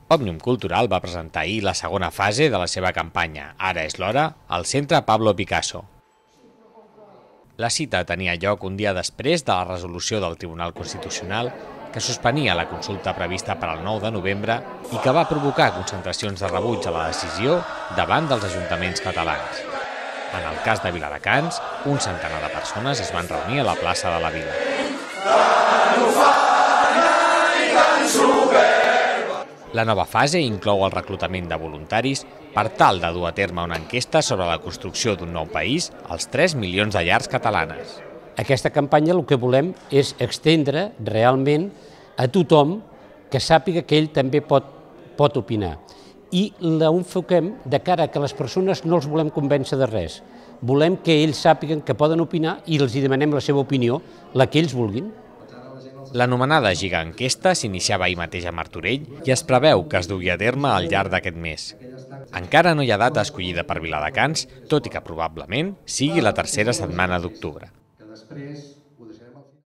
Òmnium Cultural va presentar ahir la segona fase de la seva campanya Ara és l'hora al Centre Pablo Picasso. La cita tenia lloc un dia després de la resolució del Tribunal Constitucional que suspenia la consulta prevista per al 9 de novembre i que va provocar concentracions de rebuig a la decisió davant dels ajuntaments catalans. En el cas de Viladecans, un centenar de persones es van reunir a la plaça de la Vila. La nova fase inclou el reclutament de voluntaris per tal de dur a terme una enquesta sobre la construcció d'un nou país als 3 milions de llars catalanes. Aquesta campanya el que volem és estendre realment a tothom que sàpiga que ell també pot opinar. I l'enfoquem de cara a que les persones no els volem convèncer de res. Volem que ells sàpiguen que poden opinar i els demanem la seva opinió, la que ells vulguin. L'anomenada gigaenquesta s'iniciava ahir mateix a Martorell i es preveu que es dugui a terme al llarg d'aquest mes. Encara no hi ha data escollida per Viladecans, tot i que probablement sigui la tercera setmana d'octubre.